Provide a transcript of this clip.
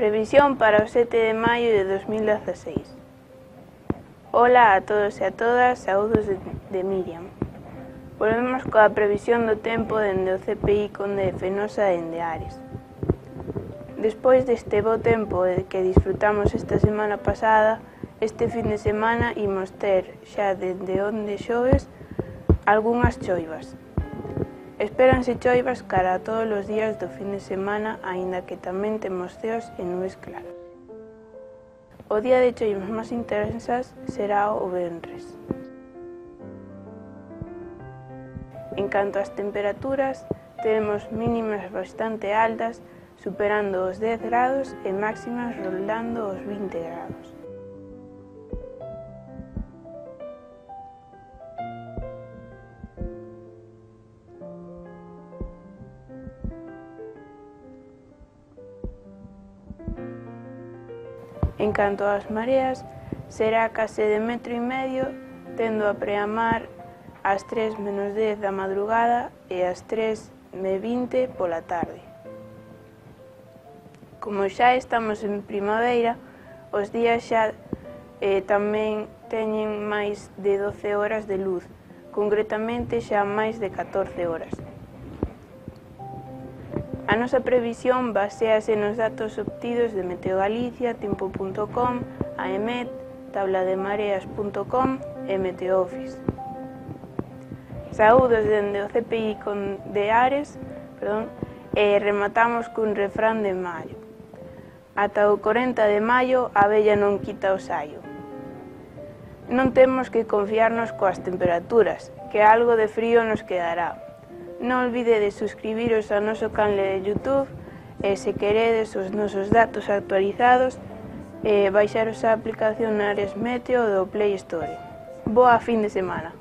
Previsión para o 7 de maio de 2016. Ola a todos e a todas, saúdos de Miriam. Volvemos coa previsión do tempo dende o CPI Conde de Fenosa dende Ares. Despois deste bo tempo que disfrutamos esta semana pasada, este fin de semana imos ter, xa dende onde xoves, algunhas choivas. Espéranse choivas cara a todos os días do fin de semana, aínda que tamén temos ceos e nubes claras. O día de choivas máis intensas será o venres. En canto ás temperaturas, temos mínimas bastante altas, superando os 10 grados e máximas rondando os 20 grados. En canto ás mareas, será case de 1,5 metros, tendo a preamar ás 3:10 da madrugada e ás 3:20 pola tarde. Como xa estamos en primavera, os días xa tamén teñen máis de 12 horas de luz, concretamente xa máis de 14 horas. A nosa previsión baséase nos datos obtidos de Meteogalicia, Tempo.com, AEMET, tablademareas.com e Meteoffice. Saúdos dende o CPI de Ares, e rematamos cun refrán de maio. Ata o 40 de maio a abella non quita o saio. Non temos que confiarnos coas temperaturas, que algo de frío nos quedará. Non olvidedes suscribiros ao noso canal de YouTube e se queredes os nosos datos actualizados, baixaros a aplicación Ares Meteo do Play Store. Boa fin de semana!